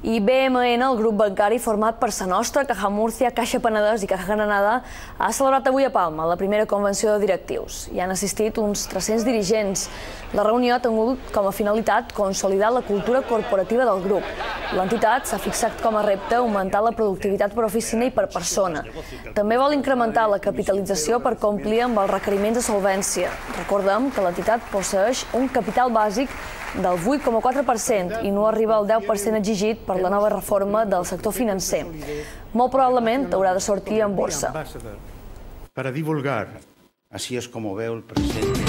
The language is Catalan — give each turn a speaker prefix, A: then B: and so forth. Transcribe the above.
A: I BMN, el grup bancari format per Sa Nostra, Caja Múrcia, Caixa Penedès i Caja Granada, ha celebrat avui a Palma la primera convenció de directius. Hi han assistit uns 300 dirigents. La reunió ha tingut com a finalitat consolidar la cultura corporativa del grup. L'entitat s'ha fixat com a repte augmentar la productivitat per oficina i per persona. També vol incrementar la capitalització per complir amb els requeriments de solvència. Recordem que l'entitat posseeix un capital bàsic del 8,4% i no arriba al 10% exigit per la nova reforma del sector financer. Molt probablement haurà de sortir en borsa.
B: Para divulgar, así es como veo el presente.